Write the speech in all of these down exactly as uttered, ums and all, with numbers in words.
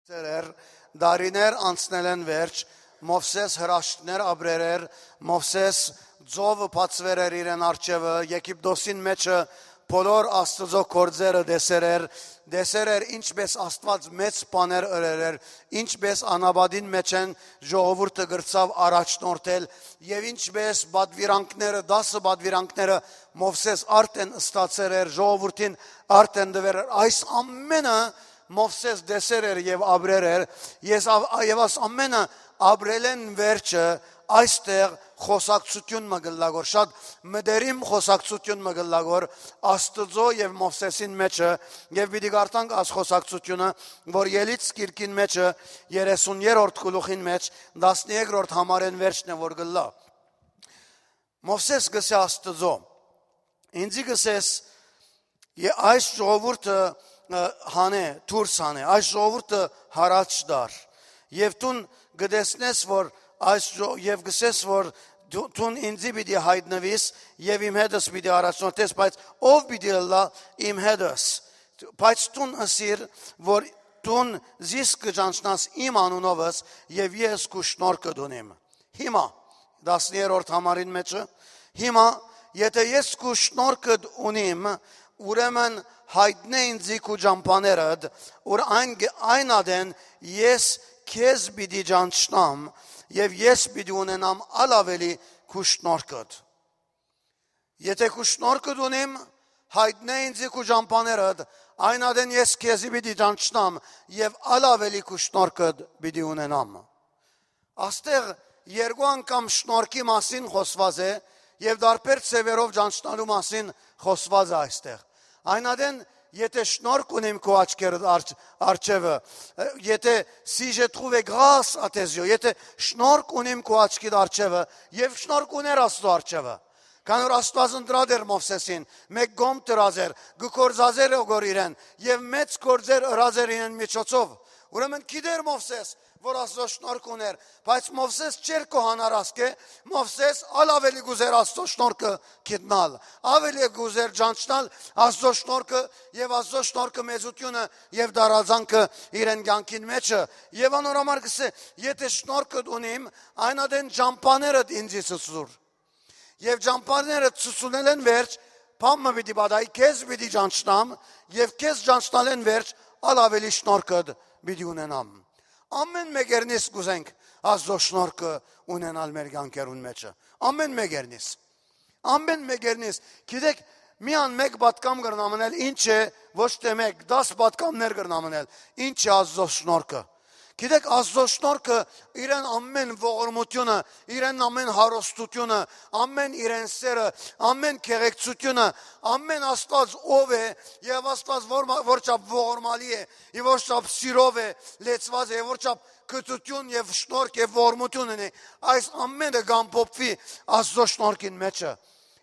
Դերեր, դարիներ անցնելէն վերջ, Մովսէս հրաշքներ ապրեր էր, Մովսէս ծովը բացուեր էր իրեն առջեւը, Եգիպտոսին մեջը բոլոր Աստուծոյ գործերը տեսեր էր, տեսեր էր ինչպէս Աստուած մեծ բաներ ըրեր էր, ինչպէս անապատին մեջէն ժողովուրդը կրցաւ առաջնորդել եւ ինչպէս պատվիրանքները, դասը պատվիրանքները Մովսէս արդեն ստացեր էր, ժողովուրդին արդեն տուեր էր։ Այս ամենը Մովսէս տեսեր էր եւ ապրեր էր, ես ավ-, եւ աս ամենը ապրելէն վերջը այստեղ խոսակցություն մը կ'ըլլայ գոր, շատ մտերիմ խոսակցություն մը կ'ըլլայ գոր Աստուծոյ եւ Մովսէսին մեջը, եւ պիտի կարդանք աս խոսակցությունը, որ Ելից գիրքին մեջը երեսուն երրորդ գլուխին մեջ տասներկրորդ համարէն վերջն է որ կ'ըլլայ։ Մովսէս կ'ըսէ Աստուծոյ. «Ինձի կ'ըսես, ե-, այս ժողովուրդը, ը, հանէ, դուրս հանէ, այս ժողովուրդը յառաջ տար։ Եւ դուն կը տեսնես, որ այս ժո-, եւ կ'ըսես, որ դու, դուն ինձի պիտի յայտնուիս եւ իմ հետս պիտի առաջնորդես, բայց ո՞վ պիտի ըլլայ իմ հետս։ Բայց դուն ըսիր, որ դուն զիս կը ճանչնաս իմ անունովս եւ ես քու շնորհքդ ունիմ»։ Հիմա, տասներորդ համարին մեջը, հիմա, եթէ ես քու շնորհքդ ունիմ, ուրեմն յայտնէ ինձի քու ճամբաներդ, որ այն գ-, այն ատեն ես քեզ պիտի ճանչնամ եւ ես պիտի ունենամ ալ աւելի քու շնորհքդ։ Եթէ քու շնորհքդ ունիմ, յայտնէ ինձի քու ճամբաներդ, այն ատեն ես քեզի պիտի ճանչնամ եւ ալ աւելի քու շնորհքդ պիտի ունենամ։ Աստեղ երկու անգամ շնորհքի մասին խոսված է եւ դարբեր ձևերով ճանչնալու մասին խոսված է այստեղ։ Այն ատեն, եթէ շնորհք ունիմ քու աչքերդ արջ-, արջևը, ը, եթէ si je trouve grâce à tes yeux, եթէ շնորհք ունիմ քու աչքիդ արջևը, եւ շնորհք ուներ Աստծո արջևը։ Քան որ Աստուած ընտրած էր Մովսէսին, մէկ կողմ դրած էր, կը գործածեր օգոր իրեն, եւ մեծ գործեր ըրած էր իրեն միջոցով։ Ուրեմն գիտեր Մովսէս, որ Աստուծոյ շնորհք ուներ, բայց Մովսէս չէր կոհանար ասկէ, Մովսէս ալ աւելի կ'ուզեր Աստուծոյ շնորհքը գիտնալ, աւելի կ'ուզեր ճանչնալ Աստուծոյ շնորհքը եւ Աստուծոյ շնորհքը մեծութիւնը եւ դարածանքը իրեն կյանքին մեջը։ Եւ անոր համար կ'ըսէ, եթէ շնորհքդ ունիմ, այն ատեն ճամբաներդ ինձի ցուցուր։ Եւ ճամբաները ցուցունելէն վերջ, բան մը պիտի պատահի, քեզ պիտի ճանչնամ, եւ քեզ ճանչնալէն վերջ, ալ աւելի շնորհքդ պիտի ունենամ։ Ամեն մեկերնից կ'ուզենք Աստուծոյ շնորհքը ունենալ մեր կյանքերուն մեջը։ Ամեն մեկերնից։ Ամեն մեկերնից։ Գիտեք, միան մէկ պատկամ կրնամ ընել, ինչ է, ոչ թե մէկ, դաս պատկամներ կրնամ ընել, ինչ է Աստուծոյ շնորհքը։ Գիտեք, Աստուծոյ շնորհքը իրեն ամեն ողորմությունը, իրեն ամեն հարստությունը, ամեն իրեն սերը, ամեն գեղեցկությունը, ամեն Աստուած ով է, եւ Աստուած որ, որ չափ ողորմալի է, եւ որ չափ սիրով է, լեցված է, որ չափ գթություն եւ շնորհք եւ ողորմություն ունի, այս ամենը կ'ամփոփուի Աստուծոյ շնորհքին մեջը։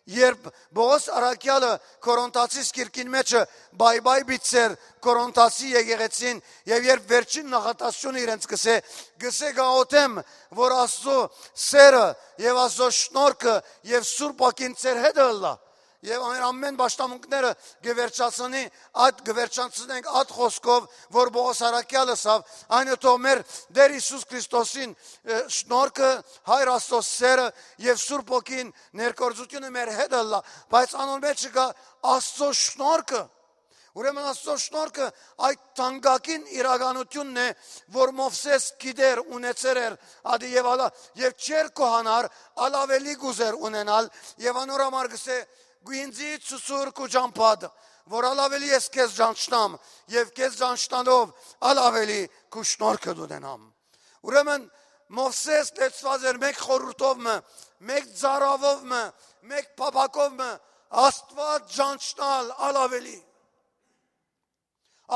Երբ Պողոս առաքեալը Կորինթացիս գիրքին մեջը բայ-բայ բիցեր Կորինթացի եկեղեցին, եւ երբ վերջին նախատասությունը իրենց կ'ըսէ, կ'ըսէ գաղութեմ, որ Աստուծոյ սերը եւ Աստուծոյ շնորհքը եւ Սուրբ Ոգին ձեր հետը ըլլայ, եւ ամեն, ամեն պաշտամունքները կը վերջացնի, այդ կը վերջացնենք այդ խոսքով, որ Պողոս առաքեալը սավ, այն է թող մեր Տեր Հիսուս Քրիստոսին, ը, շնորհքը, Հայր Աստուծոյ սերը եւ Սուրբ Ոգին ներկործությունը մեր հետ ըլլայ, բայց անոր մեջ չկայ Աստուծոյ շնորհքը։ Ուրեմն Աստուծոյ շնորհքը այդ թանկագին իրականությունն է, որ Մովսէս գիտեր, ունեցեր էր, ադի եւ ալա, եւ չէր կոհանար, ալ աւելի կ'ուզեր ունենալ, եւ անոր համար կ'ըսէ, «Գու ինձի ցուցուր քու ճամբադ, որ ալ աւելի ես քեզ ճանչնամ, եւ քեզ ճանչնալով ալ աւելի քու շնորհքդ ունենամ»։ Ուրեմն Մովսէս լեցուած էր մէկ խորհուրդով մը, մէկ ծառաւով մը, մէկ փափակով մը, Աստուած ճանչնալ ալ աւելի։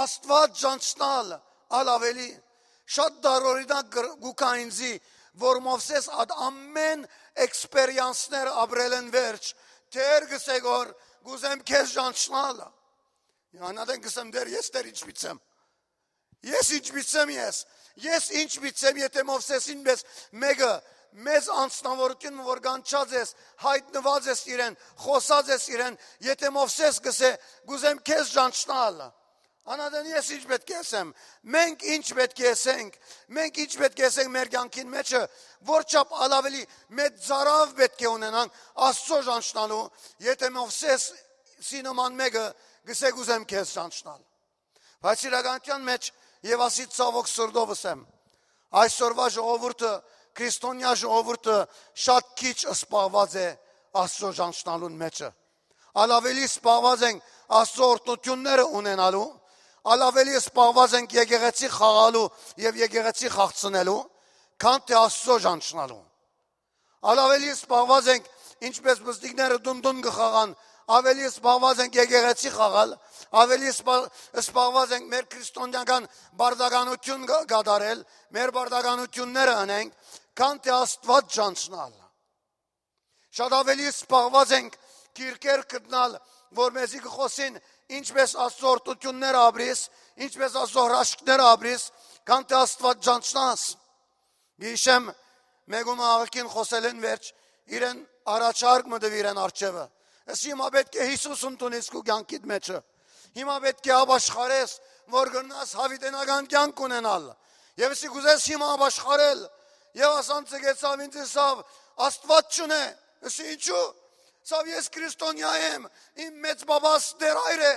Աստուած ճանչնալ ալ աւելի։ Շատ դարօրինակ կր-, կու գայ ինձի, որ Մովսէս այդ ամեն էքսպերիանսներ ապրելէն վերջ, Տեր կ'ըսէ գոր, «Կ'ուզեմ քեզ ճանչնալ»։ Անատեն կ'ըսեմ, «Տեր, ես Տեր ինչպիցեմ։ Ես ինչպիցեմ ես։ Ես ինչպիցեմ, եթէ Մովսէսին պես մէկը մեծ անձնավորություն, որ կանչած ես, յայտնուած ես իրեն, խօսած ես իրեն, եթէ Մովսէս կ'ըսէ, "Կ'ուզեմ քեզ ճանչնալ"»։ Անատեն ես ինչ պէտք է ըսեմ, մենք ինչ պէտք է ըսենք, մենք ինչ պէտք է ըսենք մեր կեանքին մէջը, որ չափ ալ աւելի մեծ ծարաւ պէտք է ունենանք Աստծո ճանչնալու, եթե Մովսեսի նման մէկը գսե կ'ուզեմ քեզ ճանչնալ։ Բայց իրականութեան մէջ, եւ ասի ցաւոք սրտով ըսեմ, այսօրվա ժողովուրդը, քրիստոնեայ ժողովուրդը շատ քիչ սպաղված է Աստծո ճանչնալուն մէջը։ Ալ աւելի սպաղված ենք Աստծո օրհնութիւնները ունենալու, ալ աւելի սպաղված ենք եկեղեցի խաղալու եւ եկեղեցի խաղցնելու, քան թէ Աստծո ճանչնալու։ Ալ աւելի սպաղված ենք, ինչպես մզդիկները դուն-դուն կը խաղան, աւելի սպաղված ենք եկեղեցի խաղալ, աւելի սպա-, սպաղված ենք մեր քրիստոնեական բարդականութիւն կա-, կատարել, մեր բարդականութիւնները ընենք, քան թէ Աստուած ճանչնալ։ Շատ աւելի սպաղված ենք կիրքեր գտնալ, որ մեզի կը խօսին, ինչպես Աստծո օրհնութիւնները ապրիս, ինչպես Աստծո հրաշքները ապրիս, քան թէ Աստուած ճանչնաս։ Գիշեմ, մէկումը աղքին խօսելէն վերջ, իրեն առաջարկ մը տուի իրեն արջևը։ Ըսի, հիմա պէտք է Յիսուս ընդունիս քու կեանքիդ մէջը։ Հիմա պէտք է ապաշխարես, որ կրնաս յաւիտենական կեանք ունենալ։ Եւ ըսի, կ'ուզես հիմա ապաշխարել։ Եւ ասան, ցկեցաւ ինձ, ըսաւ, Աստուած չունէ։ Ըսի, ինչու՞։ Ըսաւ, ես քրիստոնեայ եմ, իմ մեծ բաբաս դեռ այր է։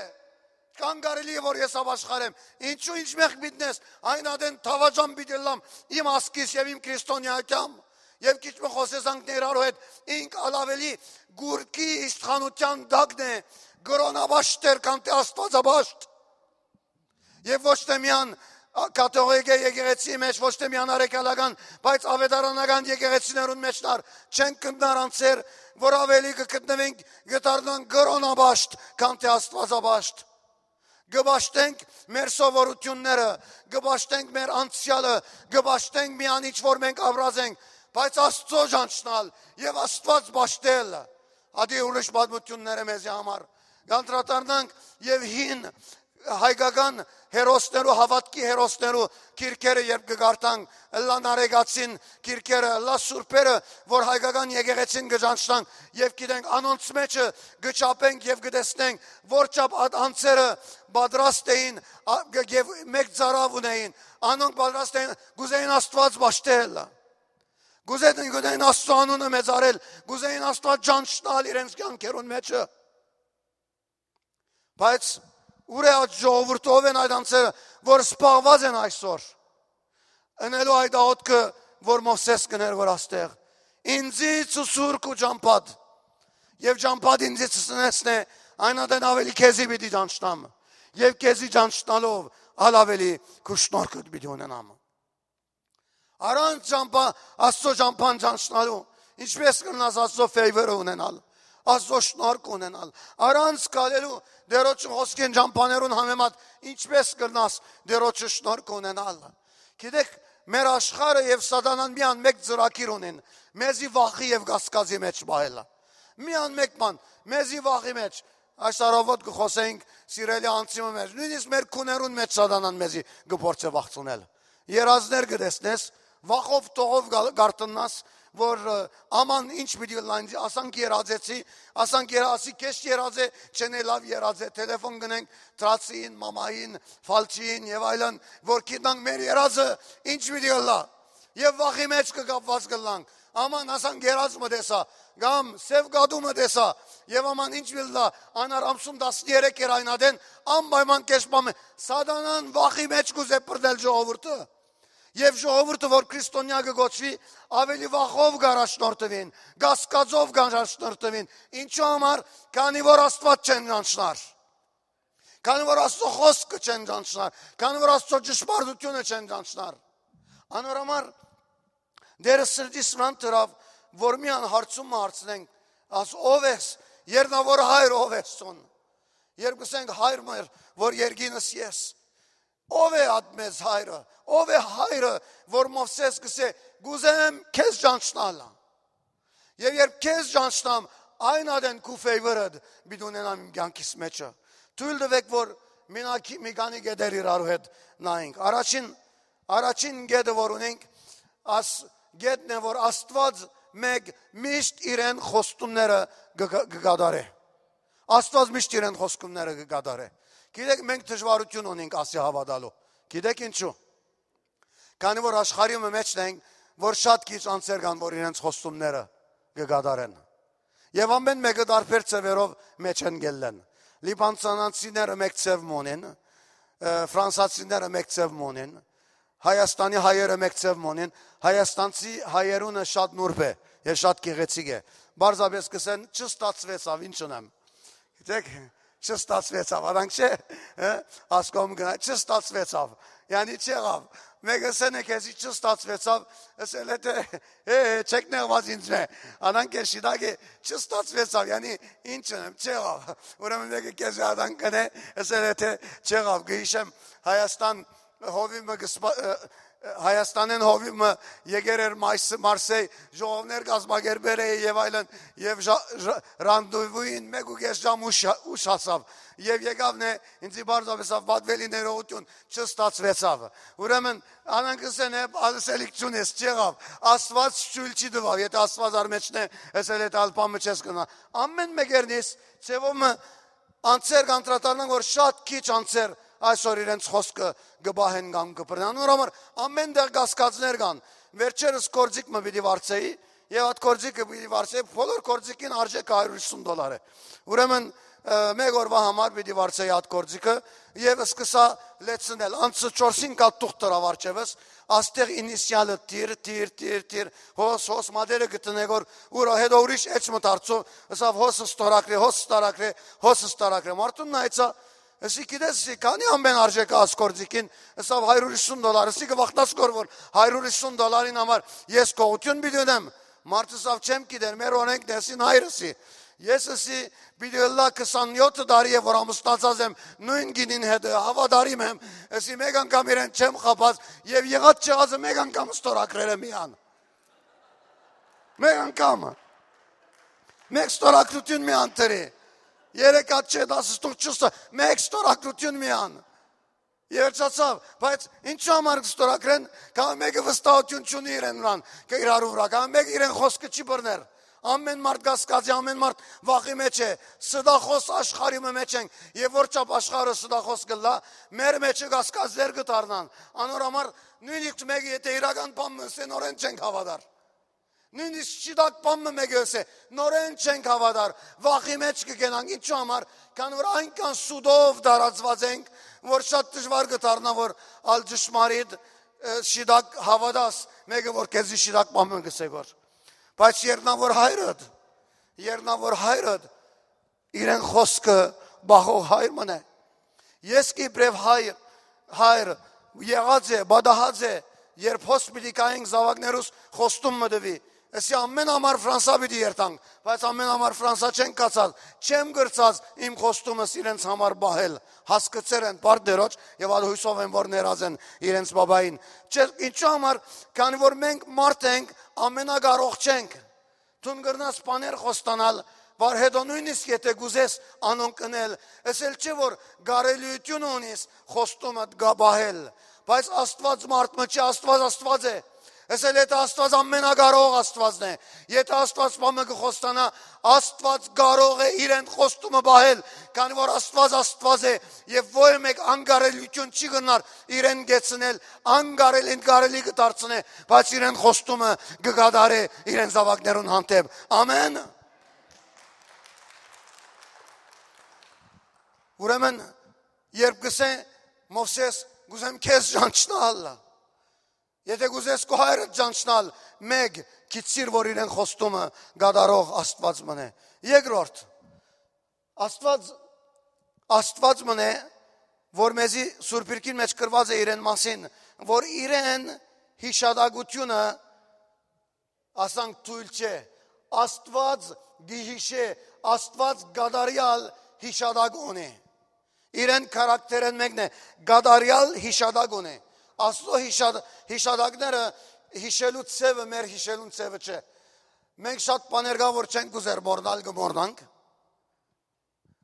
Կան կարելի է, որ ես ապաշխարեմ։ Ինչու, ինչ մեղք պիտի ես, այն ատեն դաւաճան պիտի ըլլամ իմ ազգիս եւ իմ քրիստոնեայութեան։ Եւ քիչ մը խօսես անք ներառու հետ, ինք ալ աւելի գուրքի իշխանութեան տակն է, կրոնաբաշտ էր, քան թէ Աստուածաբաշտ։ Եւ ոչ թէ միան, ա, կաթողիկէ եկեղեցի մէջ, ոչ թէ միան արեգալական, բայց աւետարանական եկեղեցիներուն մէջ դար չենք գտնար անձեր, որ աւելի կը գտնվենք, կը դառնան կրոնաբաշտ, քան թէ Աստուածաբաշտ։ Կը պաշտենք մեր սովորութիւնները, կը պաշտենք մեր անցեալը, կը պաշտենք միան ինչ որ մենք ապրած ենք, բայց Աստծո ճանչնալ եւ Աստուած պաշտել, ադի ուրիշ պատմութիւններ է մեզի համար։ Կանդրադառնանք եւ հին հայկական հերոսներու, հաւատքի հերոսներու կիրքերը երբ կը կարդանք, ըլլան արեգացին կիրքերը, ըլլա սուրբերը, որ հայկական եկեղեցին կը ճանչնանք եւ գիտենք, անոնց մէջը կը չափենք եւ կը տեսնենք, որ չափ այդ անձերը պատրաստ էին, ա, գ-, եւ մեծ ծարաւ ունեին, անոնք պատրաստ էին, կ'ուզեին Աստուած պաշտել, կ'ուզեին, կ'ուզեին Աստծո անունը մեծարել, կ'ուզեին Աստուած ճանչնալ իրենց կեանքերուն մէջը։ Բայց ո՞ւր է այդ ժողովուրդը, ո՞վ են այդ անձերը, որ սպաղված են այսօր ընելու այդ աղօթքը, որ Մովսէս կ'ընէր, որ աստեղ, «Ինձի ցուսուր քու ճամբադ, եւ ճամբադ ինձի ցցնեցնէ, այն ատեն աւելի քեզի պիտի ճանչնամ, եւ քեզի ճանչնալով ալ աւելի քու շնորհքդ պիտի ունենամ»։ Առանց ճամբա, Աստծո ճամբան ճանչնալու, ինչպես կրնաս Աստծո favor-ը ունենալ, Աստծո շնորհք ունենալ, առանց գալելու Տէրոջը խօսքին ճամբաներուն համեմատ, ինչպես կրնաս Տէրոջը շնորհք ունենալ։ Գիտեք, մեր աշխարհը եւ Սատանան միան մէկ ծրագիր ունին, մեզի վախի եւ կասկածի մէջ պահելը։ Միան մէկ բան, մեզի վախի մէջ։ Այս առավոտ կը խօսենք սիրելի անձի մը մէջ, նոյնիսկ մեր քուներուն մէջ Սատանան մեզի կը փորձէ վախցնել։ Երազներ կը տեսնես, վախով, տողով գալ-, գարթննաս, որ, ը, աման ինչ պիտի ըլլա ինձ, ասանք երազեցի, ասանք երա-, ասի քեշ երազ է, չեն է լաւ երազ է, տելեֆոն գնենք Թրացին, մամային, Ֆալչին եւ այլն, որ գիտնանք մեր երազը ինչ պիտի ըլլա։ Եւ վախի մէջ կը կապված կ'ըլլանք, աման ասանք երազ մը տեսայ, կամ սեւ կատու մը տեսայ, եւ աման ինչ պիտի ըլլա, անար ամսում տասներեք էր այն ատեն, անպայման քեշ պամէ, Սատանան վախի մէջ կ'ուզէ բռնել ժողովուրդը։ Եւ ժողովուրդը, որ քրիստոնեայ կը կոչուի, աւելի վախով կ'առաջնորդուին, կասկածով կ'առաջնորդուին։ Ինչու համար, քանի որ Աստուած չեն ճանչնար, քանի որ Աստծո խօսքը չեն ճանչնար, քանի որ Աստծո ճշմարտությունը չեն ճանչնար։ Անոր համար Տէրը սրտիս վրան դրաւ, որ միան հարցում մը հարցնենք, աս, «Ո՞վ ես, Երնաւոր հայր, ո՞վ ես ցուն»։ Երբ կ'ըսենք, «Հայր մեր, որ երկինս ես», ո՞վ է ատ մեզ հայրը, ո՞վ է հայրը, որ Մովսէս կ'ըսէ, «Կ'ուզեմ քեզ ճանչնալ»։ Եւ երբ քեզ ճանչնամ, այն ատեն քու favor-ըդ պիտի ունենամ իմ կեանքիս մէջը։ Թոյլ տուէք, որ մինակ մի քանի կետեր իրարու հետ նայենք։ Առաջին, առաջին կետը, որ ունենք, աս կետն է, որ Աստուած մէկ միշտ իրեն խոստումները կը, կը, կը կատարէ։ Աստուած միշտ իրեն խոստումները կը կատարէ։ Գիտեք, մենք դժուարութիւն ունենք ասի հաւատալու։ Գիտեք ինչու։ Քանի որ աշխարհի մը մէջն ենք, որ շատ քիչ անձեր կան, որ իրենց խոստումները կը կատարեն։ Եւ ամեն մեկը տարբեր ձեւերով մէջ են գելլեն։ Լիբանանցիները մէկ ձեւ մը ունին, ը, ֆրանսացիները մէկ ձեւ մը ունին, Հայաստանի հայերը մէկ ձեւ մը ունին, հայաստանցի հայերունը շատ նուրբ է եւ շատ գեղեցիկ է։ Պարզապէս կ'ըսեն, «Չստացուեցաւ, ինչ ընեմ»։ Գիտեք, չստացուեցաւ, արանք չէ, հը? Ասկոմ գնա, չստացուեցաւ, յանի չեղաւ։ Մեկը սեն է քեզի չստացուեցաւ, ասել է թե, «Է, է, չեք նեղված ինձ մէ»։ Անանք է շիտակ է, չստացուեցաւ, յանի ինչ ընեմ, չեղաւ։ Ուրեմն մեկը քեզի ադան կնե, ասել է թե չեղաւ, կհիշեմ Հայաստան հովի մը կը սպա-, ը, ը, Հայաստանէն հովի մը եկեր էր Մայս-, Մարսեյ, ժողովներ կազմակերպեր է եւ այլն, եւ ժա-, ժա-, ռանդեվուին մէկ ու կես ժամ ուշ, ուշ հասաւ։ Եւ եկավն է, ինձի պարզապէս ավ պատվելի ներողութիւն չստացուեցաւ։ Ուրեմն, անանք ըսեն է, ասելիք չունես, չեղաւ։ Աստված չուիլ չի տուաւ, եթե Աստված արմեջն է, ասել է տալ պամը չես կնա։ Ամեն մեկերնից, ձևով մը անձեր կանդրադառնան, որ շատ քիչ անձեր այսօր իրենց խոսքը կը պահեն կամ կը բռնեն։ Անոր համար ամեն տեղ կասկածներ կան։ Վերջերս գործիք մը պիտի վարձեի, եւ այդ գործիքը պիտի վարձեի, բոլոր գործիքին արժեքը հարիւր հիսուն դոլար է։ Ուրեմն, ը, մէկ օրվա համար պիտի վարձեի այդ գործիքը, եւ սկսա լեցնել։ Անցը չորսին կատ թուղթ դրաւ արջեւս, աստեղ ինիսիալը տիր, տիր, տիր, տիր, հոս, հոս, մատերը գտնեք որ ուր, հետո ուրիշ էջ մը դարձու, ըսաւ, «Հոս ստորագրե, հոս ստորագրե, հոս ստորագրե»։ Մարդուն նայեցա, ըսի, «Գիտես, ըսի, քանի ամեն արժեքը աս գործիքին»։ Ըսաւ, «Հարիւր հիսուն դոլար»։ Ըսի, «Կը վախնաս կոր որ հարիւր հիսուն դոլարին համար ես գողութիւն պիտի ունեմ»։ Մարդը ըսաւ, «Չեմ գիտեր, մեր օրենքն է», ըսին, «Հայր», ըսի, «ես», ըսի, «պիտի ըլլայ քսանեօթ տարի է որ ամուսնացած եմ նոյն գինին հետ, հաւատարիմ եմ», ըսի, «Մէկ անգամ իրեն չեմ խաբած եւ եղած չեղածը մէկ անգամ ստորագրեր եմ միան»։ Մէկ անգամ։ Մէկ ստորագրութիւն մի անդրի։ Երեք հատ չէ, դաս ստուղ չուստա, մէկ ստորագրութիւն մի ան։ Երջացաւ, բայց ինչու համար կստորագրեն, կա մեկը վստահութիւն չունի իրեն վրան, կը իրարու վրա, կա մեկը իրեն խոսքը չի բռներ։ Ամեն մարդ կասկածի, ամեն մարդ վախի մեջ է, ստախոս աշխարհի մը մեջ ենք, եւ որ չափ աշխարհը ստախոս կլա, մեր մեջը կասկածներ կը դառնան, անոր համար նույնիսկ մեկը եթե իրական բան մը ըսե, նորեն չենք հաւատար։ Նույնիսկ շիտակ բան մը մեկը ըսե, նորեն չենք հաւատար, վախի մեջ կը գնանք, ինչու համար, քան որ այնքան սուտով տարածված ենք, որ շատ դժուար կը դառնա, որ ալ ճշմարիտ, ը, շիտակ հաւատաս, մեկը որ քեզի շիտակ բան մը կ'ըսե գոր։ Բայց երնա որ հայրդ, երնա որ հայրդ, իրեն խոսքը բախող հայր մըն է։ Ես կիպրեւ հայր, հայր եղած է, բադահած է, երբ հոս պիտի կայենք զաւակներուս խոստում մը տուի։ Եսի ամեն համար Ֆրանսա պիտի երթանք, բայց ամեն համար Ֆրանսա չեն կացած, չեմ գրծած իմ խոստումս իրենց համար բահել։ Հասկցեր են պարտներոջ եւ ալ հույսով են, որ ներած են իրենց բաբային։ Չէ, ինչու համար, քանի որ մենք մարդ ենք, ամենակարող չենք։ Դուն կրնաս բաներ խոստանալ, որ հետո նույնիսկ եթե կուզես անոնք ընել, էս էլ չէ որ կարելիությունը ունիս խոստումդ գա պահել, բայց Աստված մարդ մը չի, Աստված Աստված է։ Էս էլ եթե Աստված ամենակարող Աստվածն է, եթե Աստված բամը կխոստանա, Աստված կարող է իրեն խոստումը պահել, քանի որ Աստված Աստված է, եւ ոյ մեկ անկարելիություն չի գնար իրեն գեցնել, անկարել, անկարելի կդարձնե, բայց իրեն խոստումը կկատարե իրեն զավակներուն հանդեպ։ Ամեն։ Ուրեմն, երբ կսե Մովսես, «Կուզեմ քեզ ճանչնալ», եթե կուզես քո հայրը ճանչնալ, մեկ, գիցիր, որ իրեն խոստումը կատարող Աստված մնե։ Երկրորդ, Աստված, Աստված մնե, որ մեզի Սուրբ Իրկին մեջ գրված է իրեն մասին, որ իրեն հիշատակությունը, ասանք, թույլ չէ։ Աստված գիհիշե, Աստված գադարյալ հիշատակ ունի։ Իրեն քարակտերեն մեկն է, գադարյալ հիշատակ ունի։ Աստծո հիշատ-, հիշատակները հիշելու ցևը մեր հիշելուն ցևը չէ։ Մենք շատ բաներ կա, որ չենք կուզեր մոռնալ, կմոռնանք։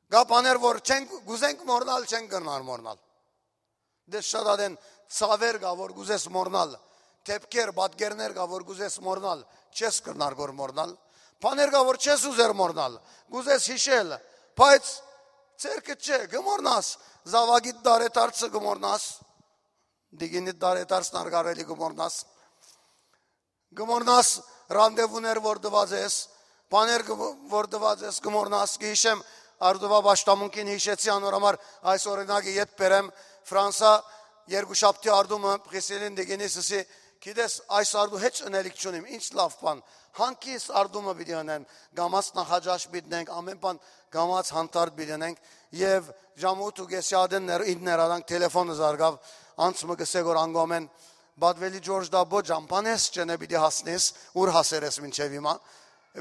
Կա բաներ, որ չենք, կուզենք մոռնալ, չենք կրնար մոռնալ։ Դες շատ ատեն ցաւեր կա, որ կուզես մոռնալ, դեպքեր, պատկերներ կա, որ կուզես մոռնալ, չես կրնար գոր մոռնալ։ Բաներ կա, որ չես ուզեր մոռնալ, կուզես հիշել, բայց ձերքը չէ, կմոռնաս, Զաւակիդ տարեդարձը կը մոռնաս, դիգինիդ տարեդարձն արկարելի կը մոռնաս, կը մոռնաս ռանդեվուներ որ տուած ես, բաներ կը- որ տուած ես, կը մոռնաս, կը յիշեմ, Արդուվայ պաշտամունքին յիշեցի անոր համար այս օրինակը ետ բերեմ, Ֆրանսա երկուշաբթի արտումը Պղիսիլին դիգինիս ըսի, գիտես, այս արտու հեչ ընելիք չունիմ, ինչ լաւ բան, հանգիստ արտումը պիտի ընեն, կամաց նախաճաշ պիտի ընենք, ամեն բան կամաց հանդարտ պիտի ընենք, եւ ժամը ութ ու կէսի ատեն ներ- ինքն ներ արանք, թելեֆոնը զարգաւ, անց մը կսե որ անգոմեն, Պատուելի Ջորջ Դաբո ջամփան ես, չենէ պիտի հասնես, ուր հասեր ես մինչեւ հիմա։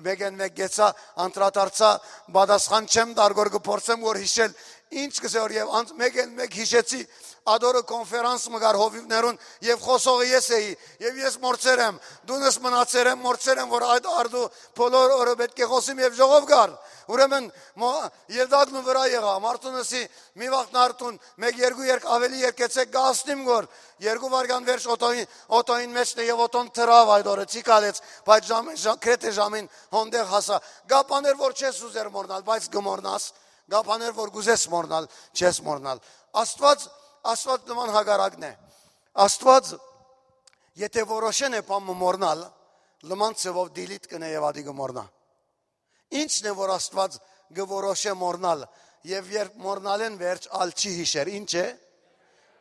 Մեկեն մեկ գեցա, անդրադարձա, պատասխան չեմ տար, որ կը փորձեմ որ յիշել, ինչ կսե որ, եւ անց մեկեն մեկ յիշեցի, ադորը կոնֆերանս մը կար հովիվներուն, եւ խոսողը ես էի, եւ ես մորցեր եմ, դունս մնացեր եմ, մորցեր եմ, որ այդ արդու բոլոր օրը պէտք է խոսիմ, եւ ժողով կար։ Ուրեմն, մո- ելդակն ու վրայ եղայ, մարդուն ըսի, մի վաղ նարդուն, մեկ երկու երկ ավելի երկեցեք, կհասնիմ գոր, երկու վարկան վերջ օտոյին, օտոյին մեջն է, եւ օտոն թրաւ այդ օրը, չի կալեց, բայց ժամ, ժամ, գրեթե ժամին հոնդեղ հասա։ Կա բաներ որ չես ուզեր մոռնալ, բայց կը մոռնաս, կա բաներ որ կուզես մոռնալ, չես մոռնալ։ Աստված, Աստված նման հակառակն է։ Աստված, եթե որոշեն է բան մը մոռնալ, լման ձևով դիլիթ կնե եւ ադի կը մոռնայ։ Ինչն է որ Աստված կը որոշէ մոռնալ, եւ երբ մոռնալէն վերջ ալ չի յիշեր, ինչ է?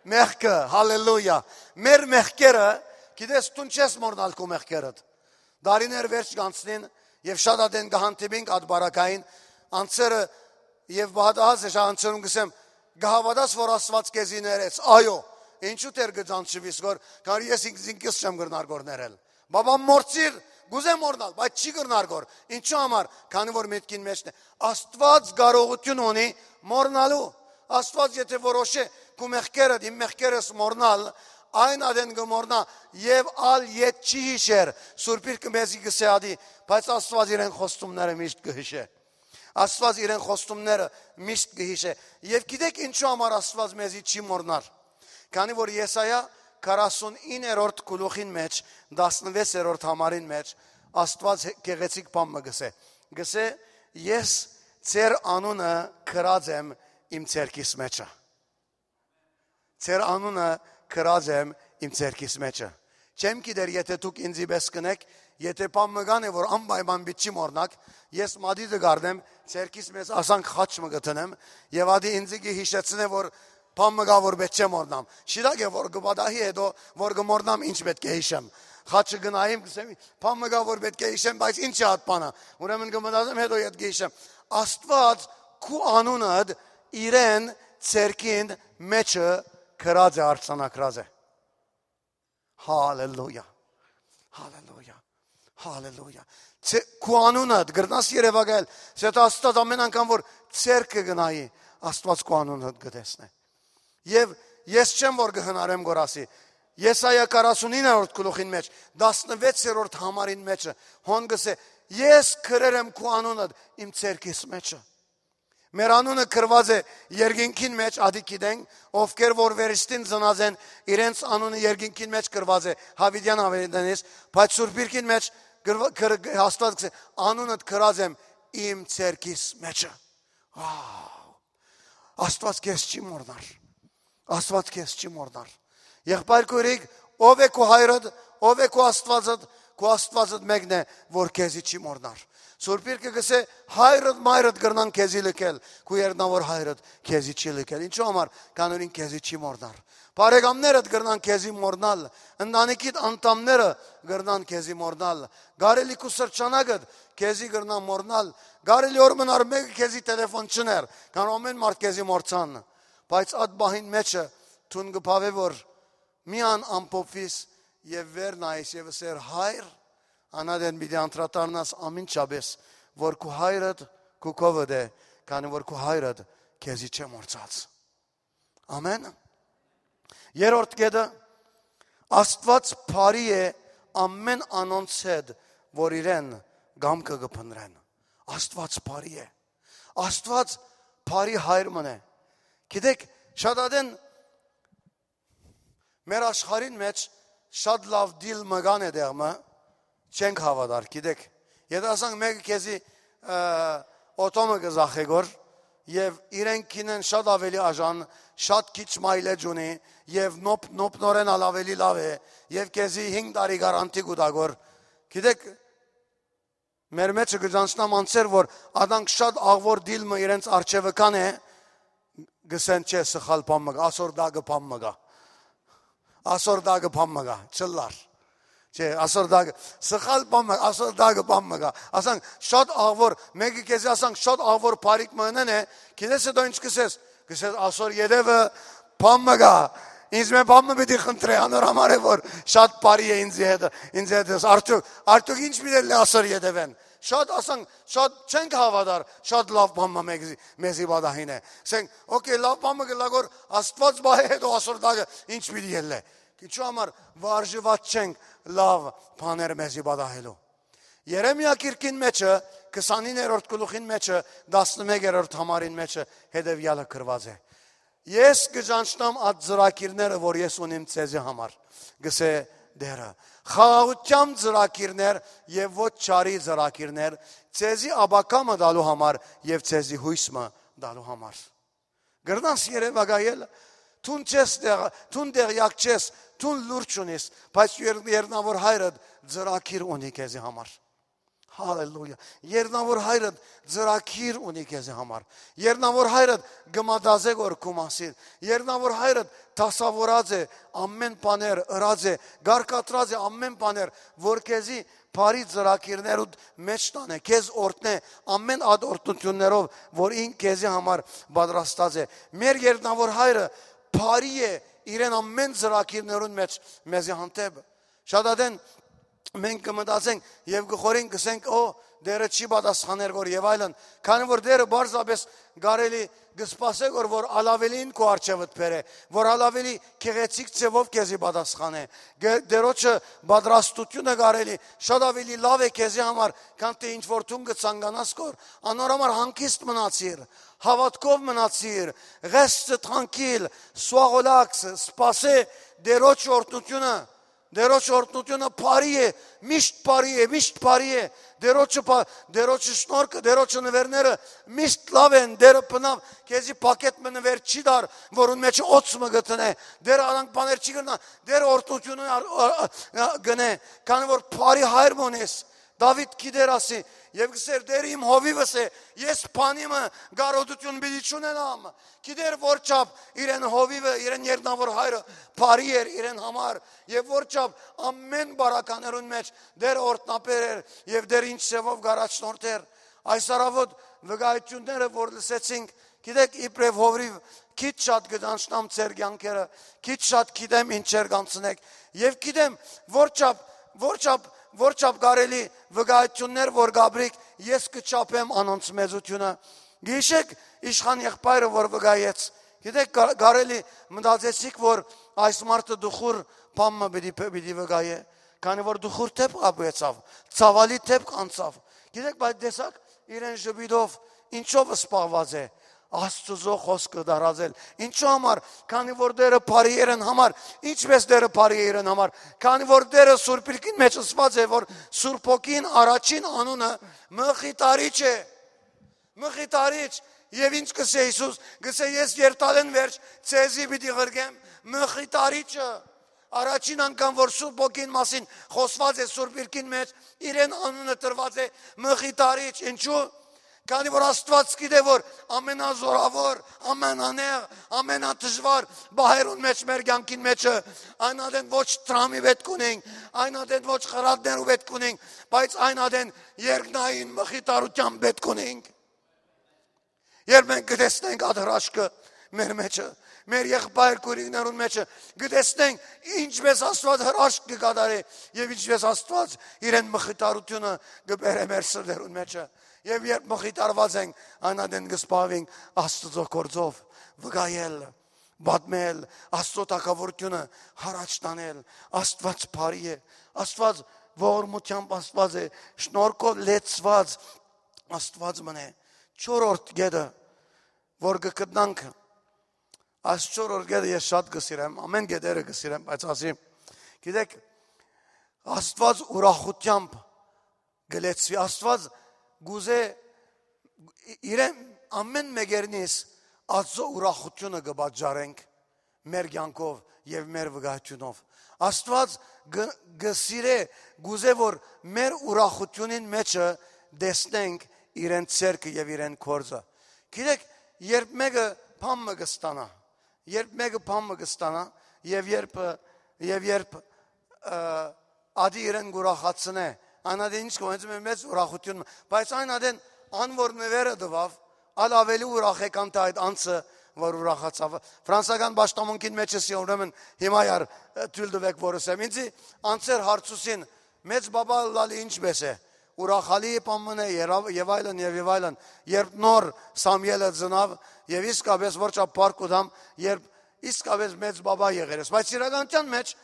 Մեղքը, հալելույա։ Մեր մեղքերը, գիտես, դուն չես մոռնալ քու մեղքերդ։ Դարիներ վերջ կանցնին, եւ շատ ատեն կը հանդիպինք այդ բարակային անձերը, եւ բադահաս է շա անձերուն կսեմ, կը հաւատաս որ Աստված քեզի ներեց, այո, ինչու դեռ կը ճանչվիս գոր, քանի ես ինքս ինքս չեմ կրնար գոր ներել։ Բաբան մորցիր, կուզե մոռնալ, բայց չի կրնար գոր։ Ինչու համար, քանի որ միտքին մեջն է։ Աստված կարողություն ունի մոռնալու։ Աստված եթե որոշէ քու մեղքերդ, իմ մեղքերս մոռնալ, այն ատեն կը մոռնայ, եւ ալ ետ չի յիշեր, Սուրբ Իրքը մեզի կսե ադի, բայց Աստված իրեն խոստումները միշտ կը յիշէ։ Աստված իրեն խոստումները միշտ կը յիշէ։ Եւ գիտեք ինչու համար Աստված մեզի չի մոռնար, քանի որ Եսայա քառասունիններորդ գլուխին մեջ, տասնվեցերորդ համարին մեջ, Աստված գեղեցիկ բան մը կսե, կսե, ես ձեր անունը գրած եմ իմ ձեռքիս մեջը։ Ձեր անունը գրած եմ իմ ձեռքիս մեջը։ Չեմ գիտեր, եթե դուք ինձի պէս կնեք, եթե բան մը կան է որ անպայման պիտի չի մոռնաք, ես մատիտը կառնեմ, ձեռքիս մեծ ասանք խաչ մը կտնեմ, եւ ադի ինձի կը յիշեցնէ որ բան մը կա որ պէտք չէ մոռնամ։ Շիրակ է որ կը պատահի հետո որ կը մոռնամ ինչ պէտք է յիշեմ։ Խաչը գնայիմ, կսեմ, բան մը կա որ պէտք է յիշեմ, բայց ինչ է այդ բանը։ Ուրեմն կը մտածեմ, հետո ետ կը յիշեմ։ Աստված քու անունդ իրեն ձեռքին մեջը գրած է, արձանագրած է։ Հալելույա։ Հալելույա։ Հալելույա։ Ձե- քու անունդ գրնաս երևակայել, սեթ Աստված ամեն անգամ որ ձեռքը գնայի, Աստված քու անունդ կտեսնէ։ Եւ ես չեմ որ կհնարեմ գոր ասի, Եսայա քառասունիններորդ գլուխին մեջ, տասնվեցերորդ համարին մեջը, հոն կսե, ես գրեր եմ քու անունդ իմ ձեռքիս մեջը։ Մեր անունը գրված է երկինքին մեջ, ադի գիտենք, ովքեր որ վերստին ծնած են, իրենց անունը երկինքին մեջ գրված է, Հավիտյան Հավիտյանից, բայց Սուրբ Իրքին մեջ գրվա- գր- Աստված կսե, անունդ գրած եմ իմ ձեռքիս մեջը։ Wow։ Աստված քեզ չի մոռնար։ Աստված քեզ չի մոռնար։ Եղբայր քույրիկ, ով է քու հայրդ, ով է քու Աստվածդ, քու Աստվածդ մեկն է որ քեզի չի մոռնար։ Սուրբ Իրքը կսե, հայրդ մայրդ կրնան քեզի լքել, քու երնավոր հայրդ քեզի չի լքել։ Ինչու համար, քանի որ ինք քեզի չի մոռնար։ Բարեկամներդ կրնան քեզի մոռնալ, ընտանիքիդ անդամները կրնան քեզի մոռնալ, կարելի քու սրճանակդ քեզի կրնան մոռնալ, կարելի օր մնար մեկը քեզի տելեֆոն չներ, քան ամեն մարդ քեզի մոռցան, բայց այդ բահին մեջը դուն կբավե որ միան ամփոփվիս եւ վեր նայիս եւ ըսեր, հայր, անադեն պիտի անդրադառնաս ամինչապես որ քու հայրդ քու քովդ է, քանի որ քու հայրդ քեզի չէ մոռցած։ Ամեն։ Երրորդ կետը, Աստված բարի է ամեն անոնց հետ որ իրեն կամքը կփնրեն։ Աստված բարի է։ Աստված բարի հայր մն է։ Գիտեք, շատ ադեն մեր աշխարհին մեջ շատ լաւ դիլ մը կան է դեղմը, չենք հաւատար, գիտեք։ Եթե ասանք մեկը քեզի օթոմը կզախե գոր, եւ իրեն կինեն շատ աւելի աժան, շատ քիչ մայլեջ ունի եւ նոպ-, նոպնորեն ալ աւելի լաւ է եւ քեզի հինգ տարի գարանտի կու տայ գոր։ Գիտեք, մեր մեջը կը ճանչնամ անձեր, որ ադանք շատ աղվոր դիլ մը իրենց արջեւը կան է, գսեն չէ, սխալ բան մը կայ, ասոր դակը բան մը կայ։ Ասոր դակը բան մը կայ, չլար։ Չէ, ասոր դակը, սխալ բան մը, ասոր դակը բան մը կայ։ Ասանք շատ աղվոր, մեկը քեզի ասանք շատ աղվոր բարիք մը ընեն է, գիտես հետո ինչ կսես, կսես ասոր ետևը բան մը կայ, ինձ մէ բան մը պիտի խնդրէ, անոր համար է որ շատ բարի է ինձ հետ, ինձ հետ ես, արդյոք, արդյոք ինչ պիտի լի ասոր ետևեն, շատ ասանք, շատ չենք հաւատար, շատ լաւ բան մը մեզի, մեզի պատահին է, ասենք, օքեյ, լաւ բան մը կլա գոր Աստված պահէ հետո ասոր դակը ինչ պիտի ելլէ, ինչու համար վարժուած չենք լաւ բաներ մեզի պատահելու։ Երեմիա գիրքին մեջը, քսանիններորդ գլուխին մեջը, տասնմեկերորդ համարին մեջը հետեւեալը գրուած է. «Ես կը ճանչնամ այդ ծրագիրները, որ ես ունիմ ձեզի համար», գսէ Տէրը։ «Խաղաղութեան ծրագիրներ եւ ոչ չարի ծրագիրներ, ձեզի ապագայ մը տալու համար եւ ձեզի յոյս մը տալու համար»։ Կրնաս երեւակայել, դուն չես տեղ-, դուն տեղյակ չես, դուն լուր չունիս, բայց եր-, երնավոր հայրդ ծրագիր ունի քեզի համար։ Հալելույա։ Երնավոր հայրդ ծրագիր ունի քեզի համար։ Երնավոր հայրդ կը մտածէ գոր քու մասին։ Երնավոր հայրդ դասաւորած է ամէն բաներ, ըրած է, կարգադրած է ամէն բաներ, որ քեզի բարի ծրագիրներուդ մէջ տանէ, քեզ օրհնէ ամէն այդ օրհնութիւններով, որ ինք քեզի համար պատրաստած է։ Մեր երնավոր հայրը բարի է իրեն ամէն ծրագիրներուն մէջ մեզի հանդէպ։ Շատ ատեն մենք կը մտածենք եւ կը խորհենք, կսենք, «Օ, Տէրը չի պատասխաներ գոր» եւ այլն, քանի որ Տէրը պարզապէս կարելի կը սպասէ գոր, որ ալ աւելին քու առջեւդ բերէ, որ ալ աւելի գեղեցիկ ձեւով քեզի պատասխանէ։ Գ-, Տէրոջը պատրաստութիւնը կարելի շատ աւելի լաւ է քեզի համար, քան թէ ինչ որ դուն կը ցանկանաս գոր։ Անոր համար հանգիստ մնացիր, հաւատքով մնացիր, reste tranquille, sois relax, սպասէ Տէրոջ օրհնութիւնը։ Տէրոջ օրհնութիւնը բարի է, միշտ բարի է, միշտ բարի է։ Տէրոջը բա-, Տէրոջը շնորհքը, Տէրոջը նուէրները միշտ լաւ են, Տէրը բնաւ քեզի փակետ մը նուէր չի տար, որուն մեջ օծ մը գտնէ։ Տէրը անանկ բաներ չի կրնայ, Տէրը օրհնութիւնը ա-, ա-, ա-, գնէ, քանի որ բարի հայր մը ունես։ Դաւիթ գիտեր ասի, եւ կսեր, «Տէրը իմ հովիվս է, ես բանի մը կարօտութիւն պիտի չունենամ»։ Գիտեր որ չափ իրեն հովիվը, իրեն երնավոր հայրը բարի էր իրեն համար, եւ որ չափ ամէն բարականերուն մէջ Տէրը օրհնաբեր էր եւ Տէրը ինչ ձեւով կ'առաջնորդէր։ Այս առաւօտ վկայությունները որ լսեցինք, գիտեք, իբրեւ հովիվ քիչ շատ կը ճանչնամ ձեր կեանքերը, քիչ շատ գիտեմ ինչեր կանցնեք, եւ գիտեմ որ չափ, որ չափ, որ չափ կարելի վկայություններ որ կապրիք, ես կը չափեմ անոնց մեծութիւնը։ Գիշեք իշխան եղբայրը որ վկայեց, գիտեք, կա-, կարելի մտածեցիք որ այս մարդը դուխուր բան մը պիտի, պիտի վկայէ, քանի որ դուխուր դէպք ապուեցաւ, ցաւալի դէպք անցաւ։ Գիտեք, բայց տեսակ իրեն ժպիտով ինչով զբաղված է, Աստուծոյ խօսքը դարածել։ Ինչու համար, քանի որ Տէրը բարի է իրեն համար, ինչպես Տէրը բարի է իրեն համար, քանի որ Տէրը Սուրբ Իրկին մեջ ըսված է, որ Սուրբ Հոգին առաջին անունը մխիթարիչ է, մխիթարիչ, եւ ինչ կսէ Յիսուս, կսէ, «Ես երթալէն վերջ ձեզի պիտի ղրկեմ մխիթարիչը»։ Առաջին անգամ որ Սուրբ Հոգին մասին խօսված է Սուրբ Իրկին մեջ, իրեն անունը տրված է մխիթարիչ, ինչու՞։ Քանի որ Աստուած գիտէ որ ամենազորաւոր, ամենանեղ, ամենադժուար պահերուն մեջ մեր կեանքին մեջը, այն ատեն ոչ դրամի պէտք ունենք, այն ատեն ոչ խրատներու պէտք ունենք, բայց այն ատեն երկնային մխիթարութեան պէտք ունենք։ Երբ մենք կտեսնենք այդ հրաշքը մեր մեջը, մեր եղբայր քոյրիկներուն մեջը, կտեսնենք ինչպես Աստուած հրաշք կկատարէ եւ ինչպես Աստուած իրեն մխիթարութիւնը կբերէ մեր սրտերուն մեջը։ Եւ երբ մխիթարված ենք, այն ատեն կզբաղվենք Աստուծոյ գործով, վկայել, պատմել, Աստուծոյ թագաւորութիւնը յառաջ տանել։ Աստուած բարի է, Աստուած ողորմութեամբ Աստուած է, շնորհքով լեցուած Աստուած մնե։ Չորրորդ կետը, որ կգտնանք, այս չորրորդ կետը ես շատ կսիրեմ, ամէն կետերը կսիրեմ, բայց ասի, գիտեք, Աստուած ուրախութեամբ կլեցուի, Աստուած կուզէ իրեն Ամէն մեկերնիս Աստծո ուրախութիւնը կը պատճառենք մեր կեանքով եւ մեր վկայութիւնով։ Աստուած կը, կը սիրէ, կ'ուզէ, որ մեր ուրախութիւնին մէջը տեսնենք իրեն ձեռքը եւ իրեն գործը։ Գիտեք, երբ մէկը բան մը կը ստանայ, երբ մէկը բան մը կը ստանայ, եւ երբ, եւ երբ, ը, ատի իրեն կ'ուրախացնէ, այն ատեն ինչ կը, հենց մեծ ուրախութիւն մը, բայց այն ատեն ան որ նուերը տուաւ, ալ ավելի ուրախ է, քան թէ այդ անձը որ ուրախացաւ։ Ֆրանսական պաշտամունքին մեջ էսի, ուրեմն հիմա յար, ը, թոյլ տուէք որ ըսեմ։ Ինձի անձեր հարցուցին, մեծ բաբա ըլլալը ինչպէս է, ուրախալի է, բան մը է, երավ-, եւ այլն, եւ, եւ այլն։ Երբ նոր Սամիելը ծնաւ, եւ իսկապես որ չափ փառք կու տամ, երբ իսկապես մեծ բաբա եղեր ես, բայց իրականության մեջ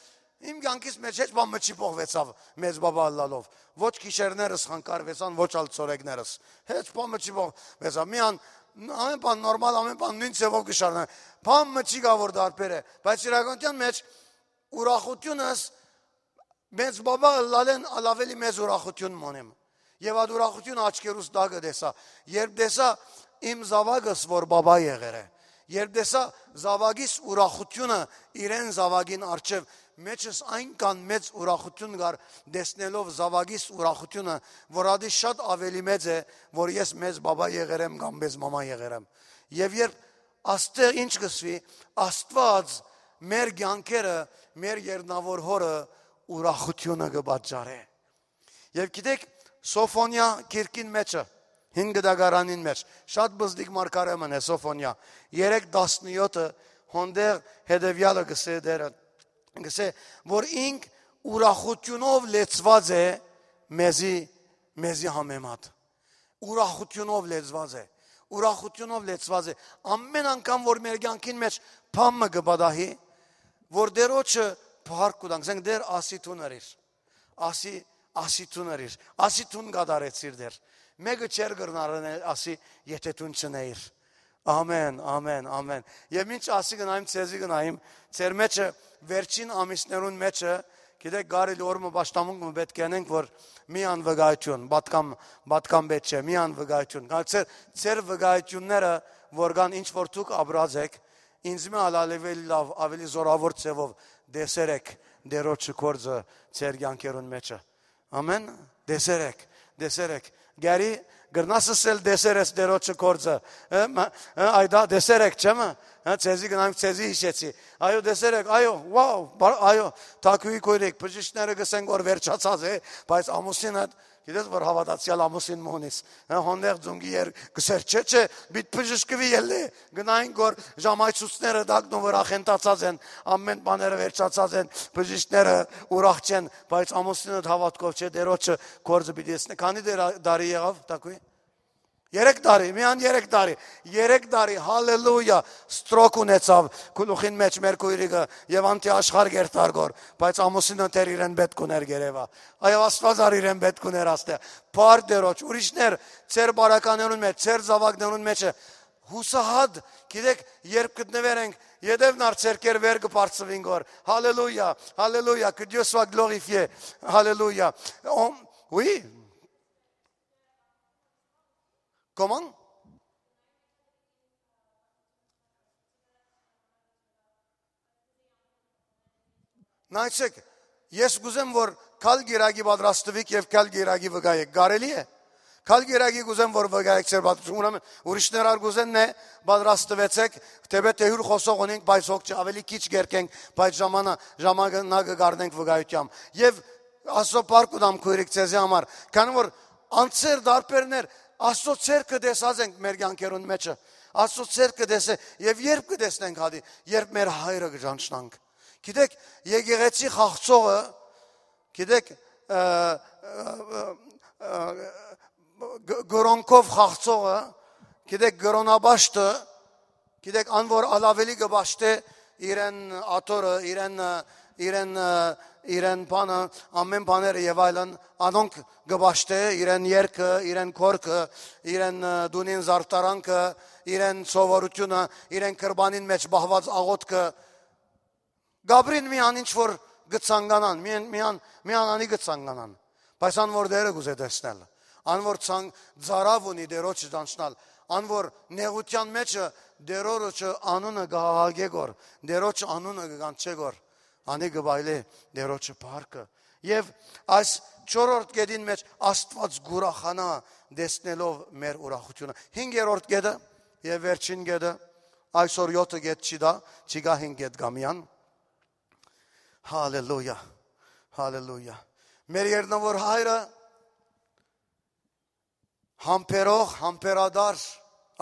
իմ կյանքիս մեջ հեչ բան մը չի փոխուեցաւ մեծ բաբա ըլլալով։ Ոչ գիշերներս խանգարուեցան, ոչ ալ ցորեկներս։ Հեչ բան մը չի փոխուեցաւ։ Միան, ամեն բան նորմալ, ամեն բան նոյն ձեւով կը շարունակի։ Բան մը չի գա որ դարբեր է, բայց իրականության մեջ ուրախութիւնս մեծ բաբա ըլլալէն ալ ավելի մեծ ուրախութիւն մոնեմ։ Եւ այդ ուրախութիւնը աչքերուս տակը տեսայ, երբ տեսայ իմ զաւակս որ բաբա եղեր է, երբ տեսայ զաւակիս ուրախութիւնը իրեն զաւակին առջեւ, մեջս այնքան մեծ ուրախութիւն կար, տեսնելով զաւակիս ուրախութիւնը, որ ատի շատ ավելի մեծ է, որ ես մեծ բաբա եղեր եմ կամ մեծ մամա եղեր եմ։ Եւ երբ աստեղ ինչ կսուի, Աստուած մեր կեանքերը, մեր երնաւոր հորը ուրախութիւնը կը պատճառէ։ Եւ գիտեք, Սոֆոնիա գիրքին մեջը, հին գդագարանին մեջ, շատ բզդիկ մարգարէ մըն է Սոֆոնիա, երեք տասնեօթը, հոնդեղ հետեւեալը կսէ դերը, կսէ, որ ինք ուրախութիւնով լեցուած է մեզի, մեզի համեմատ։ Ուրախութիւնով լեցուած է, ուրախութիւնով լեցուած է։ Ամեն անգամ որ մեր կեանքին մեջ բան մը կը պատահի, որ Տերոջը փառք կու տանք, ասենք, Տեր, ասի դուն ըրիր, ասի, ասի դուն ըրիր, ասի դուն կատարեցիր, Տեր։ Մէկը չէր կրնար ընել ասի, եթե դուն չընէիր։ Ամեն, ամեն, ամեն։ Եւ մինչ ասի գնայիմ, ձեզի գնայիմ, ձեր մեջը, վերջին ամիսներուն մեջը, գիտեք, կարելի օր մը պաշտամունք մը պէտք է ընենք, որ մի անվկայութիւն, պատկան, պատկան պէտք չէ, մի անվկայութիւն։ Կա- ձեր, ձեր վկայութիւնները, որ կան ինչ որ դուք ապրած էք, ինձ մը ալ ավելի լաւ, ավելի զորաւոր ձեւով տեսեր էք Տերոջը գործը ձեր կեանքերուն մեջը։ Ամեն, տեսեր էք, տեսեր էք։ Գարի, կրնաս ըսել, տեսեր ես Տերոջը գործը, ը, մը, ը, այ դա տեսեր էք, չէ՞ մը, ը, ձեզի գնանք, ձեզի հիշեցի։ Այո, տեսեր էք, այո, wow, բա- այո, թակուի քոյրիկ, բժիշկները կսեն որ վերջացած է, բայց ամուսինը, գիտես որ հաւատացեալ ամուսին մը ունիս, ը, հոնդեղ ձունկի եր-, կսեր, չէ, չէ, բիտ բժշկուի ելլե, գնային որ ժամայցուցները դակնո վրա խենթացած են, ամեն բաները վերջացած են, բժիշկները ուրախ չեն, բայց ամուսինը հաւատքով չէ, Տերոջը գործը պիտի տեսնի։ Քանի դեր-, տարի եղաւ, թակուի։ Երեք տարի, միան երեք տարի, երեք տարի, հալելույա, ստրոք ունեցաւ գլուխին մեջ մեր քոյրիկը եւ անթի աշխարհ կերտար գոր, բայց ամուսինը դեռ իրեն պէտք ուներ գերեվա։ Այո, Աստուած ար իրեն պէտք ուներ աստեղ։ Փառք Տերոջ, ուրիշներ, ձեր բարականերուն մեջ, ձեր զաւակներուն մեջը, հուսահատ, գիտեք, երբ գտնվեր ենք, ետեւն ար ձերքեր վեր կը բարձվին գոր։ Հալելույա, հալելույա, que Dieu soit glorifié, հալելույա։ Ո-, oui. Comment? Նայեցեք, ես կուզեմ որ քալ գիրագի պատրաստվիք եւ քալ գիրագի վկայեք, կարելի՞ է? Քալ գիրագի կուզեմ որ վկայեք ձեր պատրաստում, ուրեմն ուրիշներ ար կուզեն, նե, պատրաստվեցեք, թեպետ թե հիւր խօսող ունենք, բայց հոգ չէ, ավելի քիչ կերկենք, բայց ժամանա-, ժամանակը կառնենք վկայութեամբ։ Եւ Աստծո փառք կու տամ քոյրիկ ձեզի համար, քանի որ անցեր դարբերներ Աստծո ձեռքը տեսած ենք մեր կյանքերուն մեջը, Աստծո ձեռքը տեսե, եւ երբ կը տեսնենք հատի, երբ մեր հայրը կը ճանչնանք։ Գիտեք, եկեղեցի խաղցողը, գիտեք, ը, ը, ը, ը, գ-, գրոնքով խաղցողը, գիտեք, գրոնաբաշտը, գիտեք, ան որ ալ ավելի կը պաշտէ իրեն աթորը, իրեն, ը, իրեն, ը, իրեն բանը, ամեն բաները եւ այլն, անոնք կը պաշտէ իրեն երկը, իրեն քորքը, իրեն, ը, դունին զարդարանքը, իրեն սովորությունը, իրեն կրբանին մեջ պահված աղոթքը, Գաբրին միան ինչ որ կը ցանկանան, միան, միան, միան անի կը ցանկանան, բայց ան որ Տերը կուզէ տեսնել, ան որ ցան-, ծարաւ ունի Տերոջը ճանչնալ, Ան որ նեղութեան մէջը Տէր Օրոչը անունը կը հաղակէ գոր, Տէր Օրոչը անունը կը կանչէ գոր, անի կը վայելէ Տէր Օրոչը փառքը։ Եւ այս չորրորդ կետին մէջ Աստուած կ'ուրախանայ տեսնելով մեր ուրախութիւնը։ Հինգերորդ կետը եւ վերջին կետը, այսօր եօթը կետ չի տայ, չի գայ հինգ կետ կամիան։ Հալելույա, հալելույա։ Մեր Երկնաւոր Հայրը համբերող, համբերատար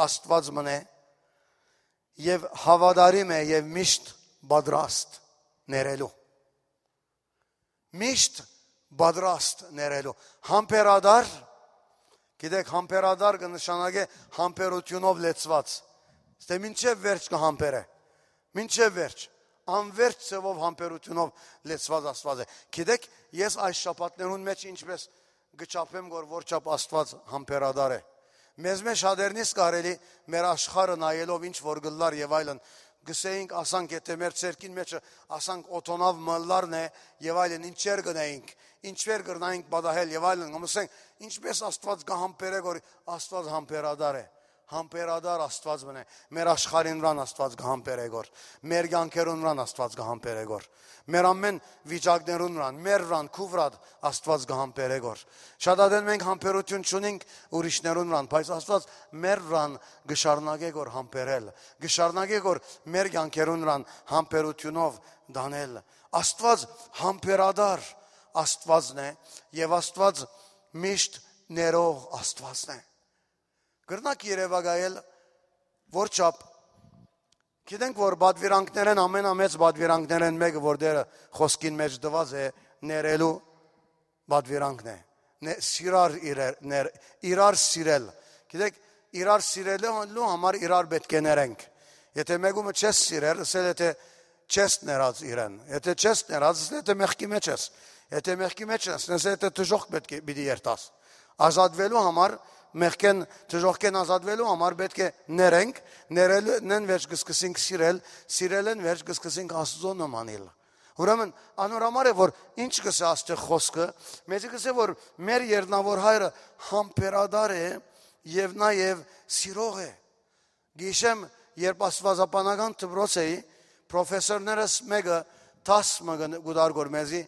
Աստուած մըն է եւ հաւատարիմ է եւ միշտ պատրաստ ներելու։ Միշտ պատրաստ ներելու։ Համբերատար, գիտեք, համբերատար կը նշանակէ համբերութիւնով լեցուած։ Ստե մինչեւ վերջ կը համբերէ։ Մինչեւ վերջ։ Անվերջ ձեւով համբերութիւնով լեցուած Աստուած է։ Գիտեք, ես այս շաբաթներուն մէջ ինչպես կը չափեմ գոր, որ չափ Աստուած համբերատար է։ Մեզ մէջ շատերնիս կարելի մեր աշխարհը նայելով ինչ որ գլլար եւ այլն, գսեինք, ասանք, եթե մեր ցերկին մեջը, ասանք, օթոնաւ մլլարն է եւ այլն, ինչեր գնայինք, ինչեր կրնայինք պատահել եւ այլն, կմսենք, ինչպես Աստուած կը համբերէ գոր, Աստուած համբերատար է։ Համբերատար Աստուած մնե, մեր աշխարհին վրան Աստուած կը համբերէ գոր, մեր կյանքերուն վրան Աստուած կը համբերէ գոր, մեր ամեն վիճակներուն վրան, մեր վրան, քու վրան Աստուած կը համբերէ գոր։ Շատ ատեն մենք համբերութիւն չունենք ուրիշներուն վրան, բայց Աստուած մեր վրան կը շարունակէ գոր համբերել, կը շարունակէ գոր մեր կյանքերուն վրան համբերութիւնով տանել։ Աստուած համբերատար Աստուածն է եւ Աստուած միշտ ներող Աստուածն է։ Կրնակ երեւակայել որ չափ, գիտենք որ պատվիրանքներէն ամենամեծ պատվիրանքներէն մէկը որ Տէրը խօսքին մէջ տուած է, ներելու պատվիրանքն է։ Ն- սիրար իրար, ներ, իրար սիրել։ Գիտեք, իրար սիրելու համար իրար պէտք է ներենք։ Եթե մեկումը չես սիրեր, ասել եթե չես ներած իրեն, եթե չես ներած, ասել եթե մեղքի մեջ ես, եթե մեղքի մեջ ես, ասել եթե դժոխք պէտք է պիտի երթաս։ Ազատվելու համար, մեղքեն, դժոխքեն ազատվելու համար պէտք է ներենք, ներելէն վերջ կսկսենք սիրել, սիրելէն վերջ կսկսենք Աստուծո նմանիլ։ Ուրեմն անոր համար է որ ինչ կսե Աստուծո խօսքը, մեզի կսե որ մեր Երկնաւոր Հայրը համբերատար է եւ նաեւ սիրող է։ Գիշեմ, երբ աստուածաբանական դպրոց էի, պրոֆեսորներս մէկը դաս մը կը- կուտարգոր մեզի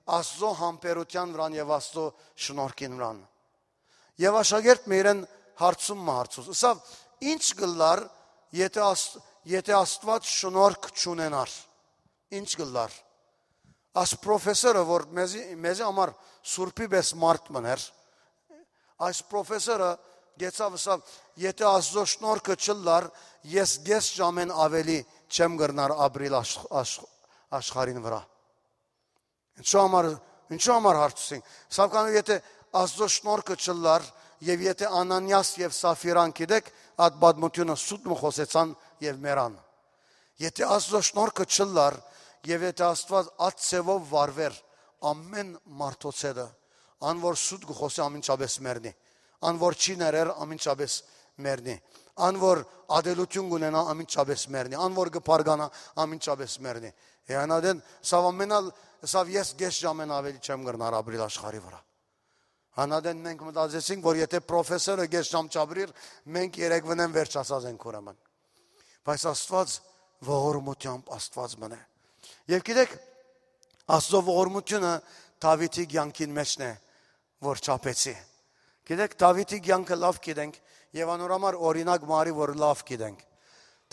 Աստուծո համբերութեան վրան եւ Աստուծո շնորհքին վրան։ Եւ աշակերտ մը իրեն հարցում մը հարցուց։ Ասաւ, ինչ կլար, եթե Աստուած, եթե Աստուած շնորհք չունենար, ինչ կլար։ Այս պրոֆեսորը, որ մեզի, մեզի համար սուրբի պես մարդ մներ, այս պրոֆեսորը գեցավ, ասաւ, եթե Աստուծո շնորհքը չլար, ես կես ժամեն ավելի չեմ կրնար ապրիլ աշխ, աշխ, աշխարհին վրա։ Ինչու համար, ինչու համար հարցուցին։ Սակայն եթե Աստուծո շնորհքը չլար, եւ եթե Անանիաս եւ Սաֆիրան գիտեք, այդ պատմությունը սուտ մը խոսեցան եւ մեռան։ Եթե Աստուծո շնորհքը չլար, եւ եթե Աստուած այդ ձևով վարվեր, ամեն մարդոց հետը, ան որ սուտ կը խոսի, ամինչապես մեռնի, ան որ չի ներեր, ամինչապես մեռնի, ան որ ադելություն կունենա, ամինչապես մեռնի, ան որ կը բարգանա, ամինչապես մեռնի։ Եանադեն, սավ ամենալ, սավ ես կես ժամեն ավելի չեմ կրնար ապրիլ աշխարհի վրա։ Անադեն մենք մտածեցինք, որ եթե պրոֆեսորը կես ժամ չապրիր, մենք երեկ վնեն վերջ ասած ենք ուրեմն։ Բայց Աստուած ողորմությամբ Աստուած մնե։ Եվ գիտեք, Աստծո ողորմությունը Դավիթի կյանքին մեջն է, որ չափեցի։ Գիտեք, Դավիթի կյանքը լավ գիտենք, եւ անոր համար օրինակ մը արի, որ լավ գիտենք։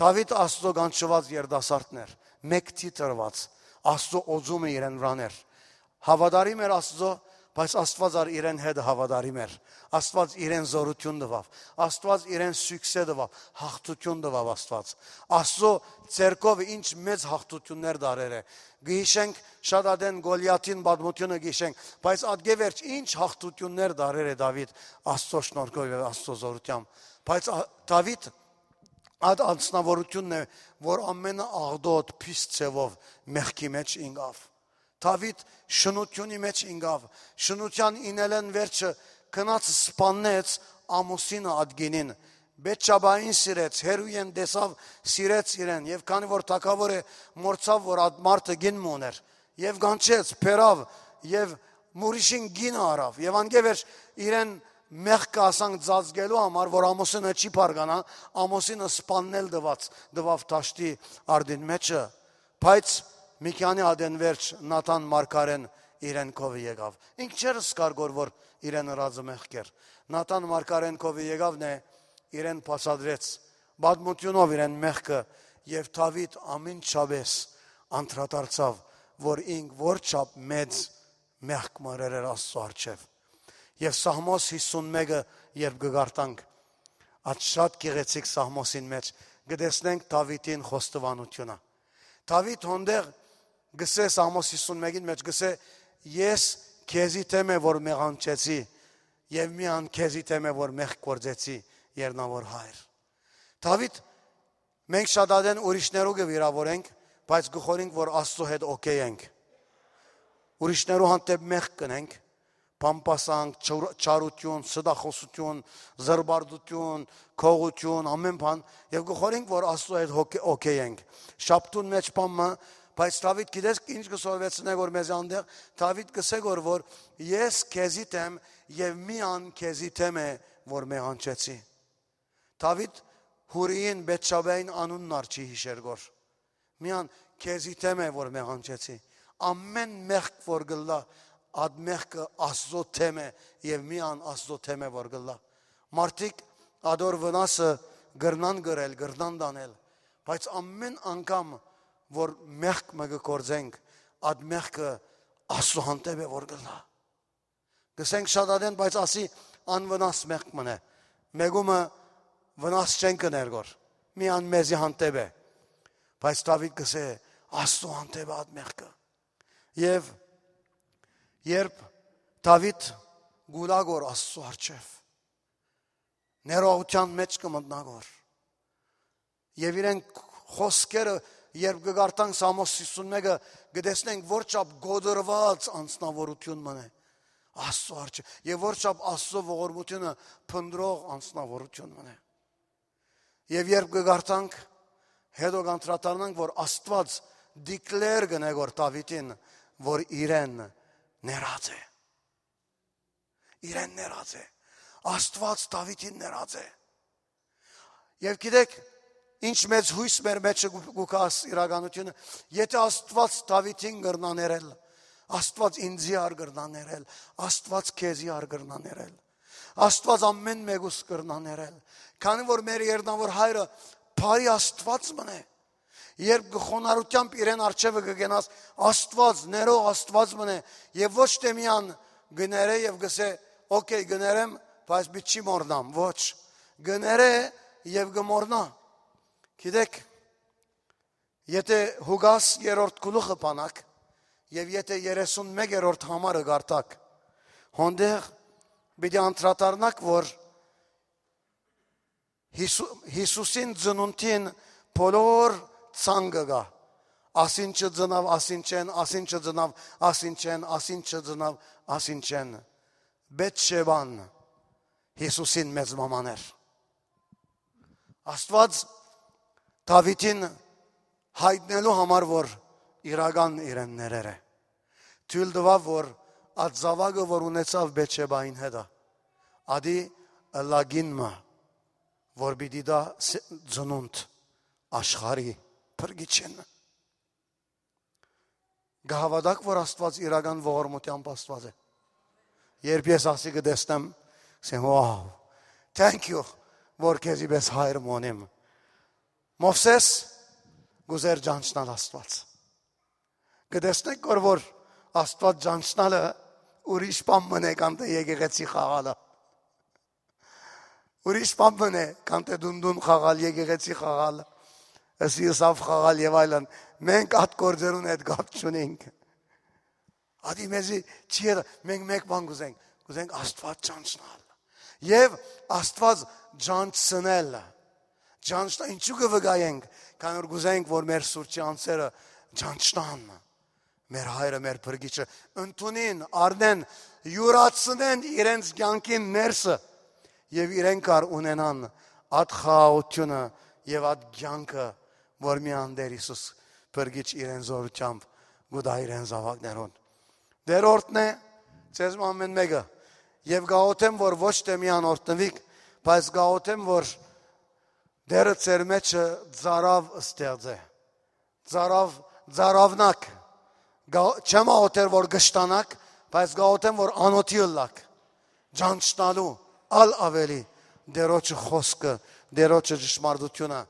Դավիթ Աստծո կանչուած երդասարտն էր, մեկ թիթրված, Աստծո օծումը իրեն վրան էր։ Հաւատարիմ էր Աստծո, բայց Աստուած ալ իրեն հետ հաւատարիմ էր։ Աստուած իրեն զորություն տուաւ, Աստուած իրեն սիւքսե տուաւ, յաղթություն տուաւ Աստուած։ Աստծո ձեռքով ինչ մեծ յաղթություններ դարեր է։ Գիշենք շատ ադեն Գոլիաթին պատմությունը գիշենք, բայց ատկե վերջ ինչ յաղթություններ դարեր է Դավիթ Աստծո շնորհքով եւ Աստծո զորությամբ։ Բայց ա- Դավիթ այդ անձնավորությունն է, որ ամենը աղտոտ, փիս ձևով մեղքի մեջ ինկավ։ Դավիթ շնութիւնի մեջ ինկավ, շնութեան ինելեն վերջը գնաց սպաննեց ամուսինը ատկինին, Բեթշաբային սիրեց, հերոյեն տեսավ, սիրեց իրեն, եւ քանի որ թագաւոր է, մորցավ, որ այդ մարդը գին մը ուներ, եւ կանչեց, փերավ, եւ մուրիշին գինը առավ, եւ անկէ վերջ իրեն մեղքը, ասանք, ծածկելու համար, որ ամուսինը չի բարգանայ, ամուսինը սպաննել տուած, տուաւ դաշտի արտին մէջը, բայց մի քանի ատեն վերջ Նաթան մարգարէն իրեն քովը եկաւ։ Ինք չէր զգար գոր, որ իրեն ըրածը մեղք էր։ Նաթան մարգարէն քովը եկաւ, նե իրեն բացատրեց, պատմութիւնով իրեն մեղքը, եւ Դաւիթ ամենջապես անդրադարձաւ, որ ինք որչափ մեծ մեղք մը ըրեր Աստծո առջեւ։ Եւ Սաղմոս հիսուն մէկը երբ կը կարդանք, այդ շատ գեղեցիկ Սաղմոսին մէջ կը տեսնենք Դաւիթին խոստովանութիւնը։ Դաւիթ հոնդեղ գսե Սաղմոս հիսուն մէկին մէջ, գսե. «Ես քեզի դէմ է որ մեղանչեցի, եւ միան քեզի դէմ է որ մեղք գործեցի, Երնաւոր Հայր»։ Դաւիթ, մենք շատ ատեն ուրիշներու կը վիրաւորենք, բայց կը խորհենք, որ Աստծո հետ օքեյ ենք։ Ուրիշներու հանդէպ մեղք կ'ընենք, բամբասանք, չար-, չարութիւն, ստախոսութիւն, զրպարտութիւն, գողութիւն, ամէն բան, եւ կը խորհենք, որ Աստծո հետ օքեյ ենք։ Շաբթուն մէջ բան մը, բայց Դաւիթ, գիտես ինչ կը սորվեցնէ որ մեզի անդեղ, Դաւիթ կ'ըսէ գոր, որ «Ես քեզի դէմ, եւ միան քեզի դէմ է որ մեղանչեցի»։ Դաւիթ Յուրիին, Բեթշաբեային անունն ալ չի յիշեր գոր։ Միան քեզի դէմ է որ մեղանչեցի։ Ամէն մեղք որ կ'ըլլայ, այդ մեղքը Աստծո դէմ է, եւ միան Աստծո դէմ է որ կ'ըլլայ։ Մարդիկ ատոր վնասը կրնան կրել, կրնան տանել, բայց ամէն անգամ որ մեղք մը կը գործենք, այդ մեղքը Աստծո հանդէպ է որ կ'ըլլայ։ Կ'ըսենք շատ ատեն, բայց ասի անվնաս մեղք մըն է։ Մեկումը վնաս չեն կ'ըներ գոր։ Միան մեզի հանդէպ է։ Բայց Դաւիթ կ'ըսէ, Աստծո հանդէպ է այդ մեղքը։ Եւ երբ Դաւիթ կ'ուլայ գոր Աստծո առջեւ, ներողութեան մէջ կը մտնայ գոր։ Եւ իրեն խոսքերը, երբ կը կարդանք Սաղմոս հիսուն մէկը, կը տեսնենք որչափ կոտրուած անձնաւորութիւն մըն է Աստծո առջեւ, եւ որչափ Աստծո ողորմութիւնը փնտռող անձնաւորութիւն մըն է։ Եւ երբ կը կարդանք, հետո կանդրադառնանք, որ Աստուած դիկլեր կ'ընէ գոր Դաւիթին, որ իրեն ներած է։ Իրեն ներած է։ Աստուած Դաւիթին ներած է։ Եւ գիտեք, ինչ մեծ յոյս մեր մէջը կու, կու գաս իրականութիւնը, եթէ Աստուած Դաւիթին կրնայ ներել, Աստուած ինծի ար կրնայ ներել, Աստուած քեզի ար կրնայ ներել, Աստուած ամէն մեկուս կրնայ ներել, քանի որ մեր Երնաւոր Հայրը բարի Աստուած մըն է։ Երբ գ-, խոնարհութեամբ իրեն առջեւը կը գնաս, Աստուած, ներող Աստուած մըն է, եւ ոչ թէ միան կը ներէ եւ կ'ըսէ, «Օքեյ, կը ներեմ, բայց պիտի չի մոռնամ»։ Ոչ, կը ներէ եւ կը մոռնայ։ Գիտեք, եթէ Ղուկաս երրորդ գլուխը բանաք, եւ եթէ երեսուն մեկերորդ համարը կարդաք, հոնդեղ պիտի անդրադառնաք, որ Յիսու-, Յիսուսին ծնունդին բոլոր ցանկը կայ։ Ասինչը ծնաւ, ասինչէն, ասինչը ծնաւ, ասինչէն, ասինչը ծնաւ, ասինչէն։ Բեթ Շեբան Յիսուսին մեծ մաման էր։ Աստուած Դաւիթին յայտնելու համար, որ իրական իրեն ներեր է, թոյլ տուաւ, որ այդ զաւակը, որ ունեցաւ Բեթ Շեբային հետը, ատի ըլլայ կին մը, որ պիտի տայ ս-, ծնունդ աշխարհի փրկիչին։ Կը հաւատա՞ք, որ Աստուած իրական ողորմութեամբ Աստուած է։ Երբ ես ասիկը տեսնեմ, ասեմ, «Wow, thank you, որ քեզի պես հայր մը ունիմ»։ Մովսէս կ'ուզէր ճանչնալ Աստուած։ Կը տեսնենք, որ, որ Աստուած ճանչնալը ուրիշ բան մըն է, քան թէ եկեղեցի խաղալը։ Ուրիշ բան մըն է, քան թէ դունդուն խաղալ, եկեղեցի խաղալ, ըսի ըսաւ խաղալ եւ այլն։ Մենք այդ գործերուն հետ կապ չունենք։ Ատի մեզի չի ետա, մենք մեկ բան կ'ուզենք, կ'ուզենք Աստուած ճանչնալ։ Եւ Աստուած ճանչցնել։ Ճանչնա-, ինչու՞ կը վկայենք, քանի որ կ'ուզենք, որ մեր սուրճի անձերը ճանչնան մեր հայրը, մեր փրկիչը, ընդունին, առնեն, յուրացնեն իրենց կյանքին ներսը եւ իրենք ար ունենան այդ խաղաղութիւնը եւ այդ կյանքը, որ միան Տեր Յիսուս փրկիչ իրեն զորութեամբ կու տայ իրեն զաւակներուն։ Դերորդն է, ձեզ մը ամեն մեկը, Եւ կ'աղօթեմ, որ ոչ թէ միայն օրհնուիք, բայց կ'աղօթեմ, որ Տէրը ձեր մէջը ծարաւ ստեղծէ։ Ծարաւ, ծարաւնաք։ Գա-, չեմ աղօթեր, որ կշտանաք, բայց կ'աղօթեմ, որ անօթի ըլլաք, ճանչնալու ալ աւելի Տէրոջը խօսքը, Տէրոջը ճշմարտութիւնը,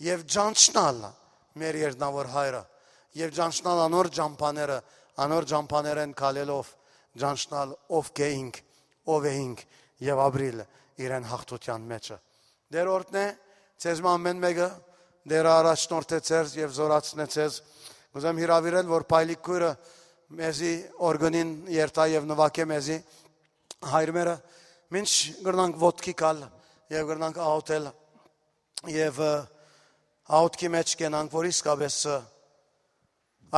եւ ճանչնալ մեր Երկնաւոր Հայրը, եւ ճանչնալ անոր ճամբաները, անոր ճամբաներէն քալելով, ճանչնալ ովքէ ինք, ով է ինք, եւ ապրիլ իրեն հաղթութեան մէջը։ Տէր օրհնէ ձեզ մը ամէն մէկը, Տէրը առաջնորդէ ձեզ եւ զորացնէ ձեզ։ Կ'ուզեմ հրաւիրել, որ Փայլիկ քոյրը մեզի օրգանին երթայ եւ նուագէ մեզի, հայրմերը, մինչ կրնանք ոտքի գալ եւ կրնանք աղօթել եւ, ը, աղօթքի մէջ կենանք, որ իսկապէս, ը,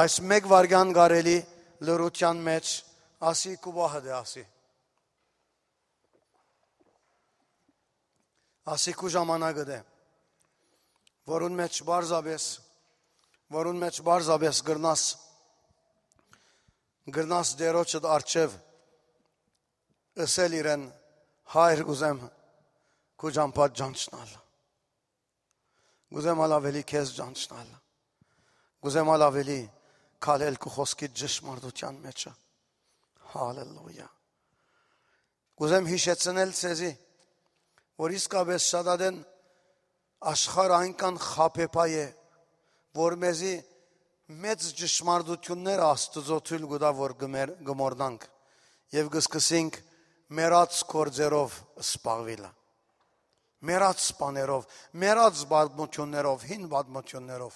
այս մէկ վայրկեան կարելի լռութեան մէջ ասի՝ «Քու պահդ է», ասի։ Ասի՝ «Քու ժամանակդ է», որուն մէջ պարզապէս, որուն մէջ պարզապէս կրնաս, կրնաս Տէրոջդ առջեւ ըսել իրեն. «Հայր, կ'ուզեմ քու ճամբադ ճանչնալ։ Կ'ուզեմ ալ աւելի քեզ ճանչնալ։ Կ'ուզեմ ալ աւելի քալել քու խօսքիդ ճշմարտութեան մէջը»։ Հալելույա։ Կ'ուզեմ յիշեցնել ձեզի, որ իսկապէս շատ ատեն աշխարհը այնքան խաբեբայ է, որ մեզի մեծ ճշմարտութիւնները Աստուծոյ թոյլ կու տայ, որ կը մեր-, կը մոռնանք եւ կը սկսենք մեռած գործերով զբաղուիլը, մեռած բաներով, մեռած պատմութիւններով, հին պատմութիւններով,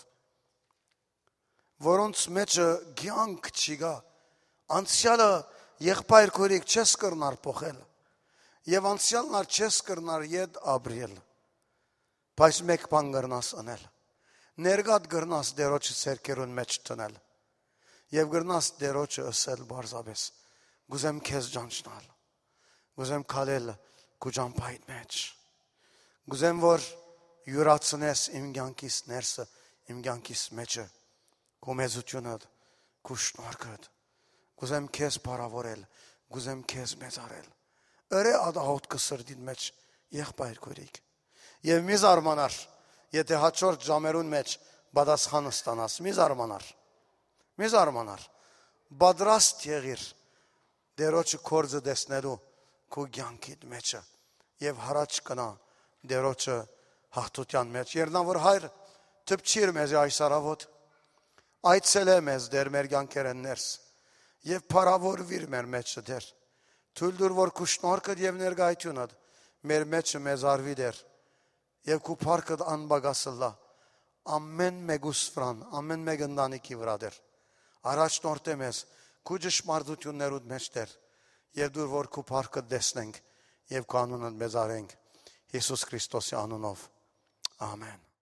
որոնց մէջը կեանք չի գա։ Անցեալը, եղբայր քոյրիկ, չես կրնար փոխել, եւ անցեալն ալ չես կրնար ետ ապրել, բայց մէկ բան կրնաս ընել. ներկատ կրնաս Տէրոջը ձեռքերուն մէջ դնել եւ կրնաս Տէրոջը ըսել պարզապէս. «Կ'ուզեմ քեզ ճանչնալ, կ'ուզեմ քալել քու ճամբայիդ մէջ, կ'ուզեմ, որ իւրացնես իմ կեանքիս ներսը, իմ կեանքիս մէջը քու մեծութիւնդ, քու շնորհքդ։ Կ'ուզեմ քեզ փառաւորել, կ'ուզեմ քեզ մեծարել»։ Ըրէ ատաղօթքը սրտին մէջ, եղբայր քոյրիկ, եւ մի զարմանար, եթէ հաջորդ ժամերուն մէջ պատասխան ստանաս։ Մի զարմանար, մի զարմանար։ Պատրաստ եղիր Տէրոջը գործը տեսնելու քու կեանքիդ մէջը եւ յառաջ կնա Տէրոջը հաղթութեան մէջ։ Երկնաւոր Հայր, դպչիր մեզի այս առաւօտ, այցելէ մեզ, Տէր, մեր կեանքերէն ներս եւ փառաւորուիր մեր մէջը, Տէր։ Թոյլ տուր, որ քու շնորհքդ եւ ներկայութիւնդ մեր մէջը մեծարուի, Տէր, եւ քու փառքդ անպակաս ըլլայ ամէն մէկուս վրան, ամէն մէկ ընտանիքի վրայ, Տէր։ Առաջնորդէ մեզ քու ճշմարտութիւններուդ մէջ, Տէր, եւ տուր, որ քու փառքդ տեսնենք եւ քու անունդ մեծարենք, Յիսուս Քրիստոսի անունով։ Ամէն։